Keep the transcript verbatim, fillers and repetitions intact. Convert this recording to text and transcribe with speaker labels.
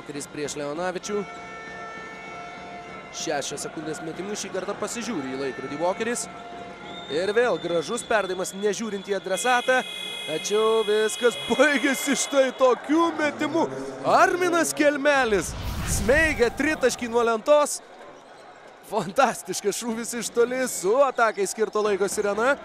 Speaker 1: Vokeris prieš Leonavičių. Šešios sekundės metimų, šį kartą pasižiūri į laikrodį Vokeris. Ir vėl gražus perdavimas nežiūrint į adresatą. Tačiau viskas baigėsi štai tokiu metimu. Arminas Kelmelis smeigia tritaškį nuo lentos. Fantastiškas šūvis iš toli su atakai skirto laiko sirena.